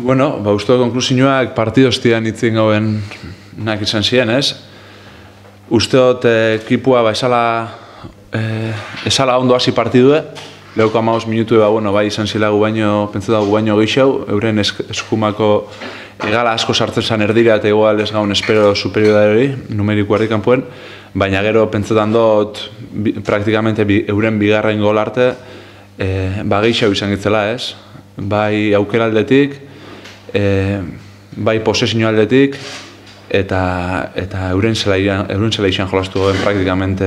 Bueno, uste konklusioak partidoztian itzin gauen nak izan ziren, ez? Usteot ekipua esala ondo hasi partidue, lehoko 15 minutu bai izan zilagu baino, pentsetagu baino geixau, euren eskumako egala asko sartzen zan erdira eta igual ez gaun espero superiorari, numeriko harri kanpoen, baina gero pentsetan dut praktikamente euren bigarren gol arte geixau izan gitzela, ez? Bai aukera aldetik, bai posesio aldetik, eta euren zela izan jolastu goben praktikamente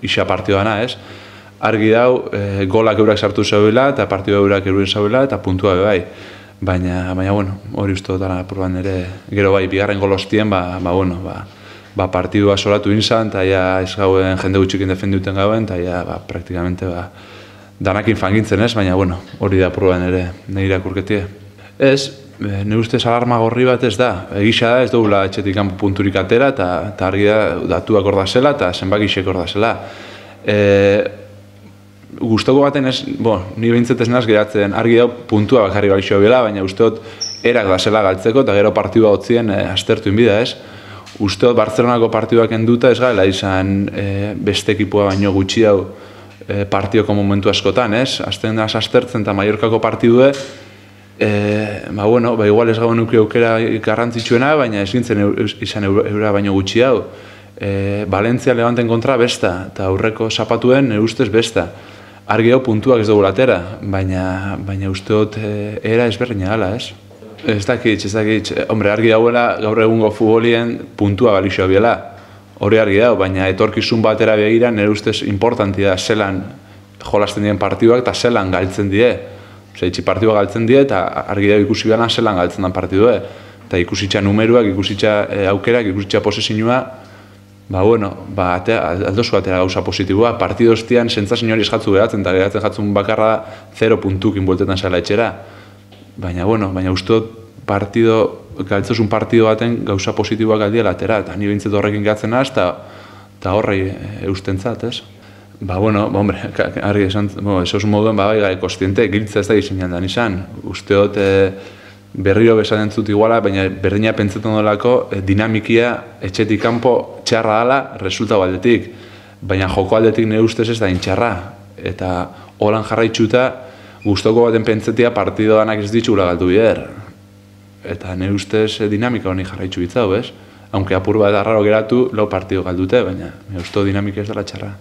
isa partidua ez? Argi dau, golak eurak sartu zauela, eta partidua eurak euren zauela, eta puntua bai. Baina, bueno, hori uste dutara proban ere, gero bai, bigarren gol hostien, partidua solatu inzan, eta ez gauen jende gutxikin defendiuten gauen, eta praktikamente danakin fangintzen ez, baina, bueno, hori da proban ere, nire irakurketie. Ez, nire ustez alarma gorri bat ez da, egisa da ez dugula etxetik kanpo punturik atera, eta argi da datuak hor da zela, eta zenbakixek hor da zela. Gustoko baten ez, ni behintzat ez naz geratzen, argi da puntua bakarri balixo bela, baina usteot erak da zela galtzeko, eta gero partidua hotzien aztertu inbida ez. Usteot Bartzelonako partiduak enduta ez gaela izan beste ekipua baino gutxi hau partioko momentu askotan, ez? Azten da aztertzen eta Mallorcako partidue, igual ez gauen nuke aukera garrantzitsuena, baina ez gintzen izan eura baino gutxi hau. Valentzia Levanten kontra besta, eta aurreko zapatuen ustez besta. Argi hau puntuak ez dugu latera, baina usteot era ezberdina gala, ez? Ez dakit, hombre, argi dauela gaur egungo futbolien puntua balixoa biela. Hori argi dau, baina etorkizun batera begira nire ustez importanti da zelan jolasten dien partiduak eta zelan galtzen die. Itxi partidua galtzen die eta argi dago ikusi behar zelan galtzen den partidue. Eta ikusitza numeruak, ikusitza aukerak, ikusitza posesinua, aldozu atera gauza positiboa. Partidoztian sentzazio hori eskatzu geratzen, eta geratzen jatzun bakarra 0 puntukin bueltetan zela etxera. Baina usteot galtzozun partido baten gauza positiboak aldiela atera, eta ni behintzat horrekin geratzen naz, eta horrei eustentzat, ez? Hombre, argi esan, esos moduen, kostiente, giltza ez da gizinean da nizan. Usteot berriro besan entzut iguala, baina berdina pentsetan dolako dinamikia etxetik kanpo txarra dala resultatu aldetik. Baina joko aldetik nire ustez ez da intxarra. Eta holan jarraitxuta, gustoko baten pentsetia partido danak ez ditxula galdu bider. Eta nire ustez dinamika honi jarraitxu bitzau, ez? Aunque apur bat arraro geratu, lau partido galdute, baina nire ustez dinamika ez dela txarra.